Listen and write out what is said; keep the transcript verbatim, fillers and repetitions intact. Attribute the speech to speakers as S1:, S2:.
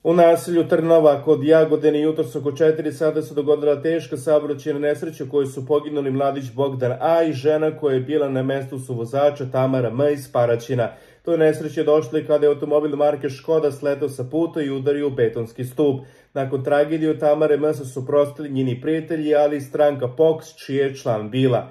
S1: U naselju Trnava kod Jagodine jutros oko četiri sata se dogodila teška saobraćajna nesreća u kojoj su poginuli mladić Bogdan A i žena koja je bila na mestu suvozača Tamara M iz Paraćina. To nesreće je došlo i kada je automobil marke Škoda sletao sa puta i udario u betonski stup. Nakon tragedije od Tamare M se suprotstavili njeni prijatelji, ali i stranka P O K S, čiji je član bila.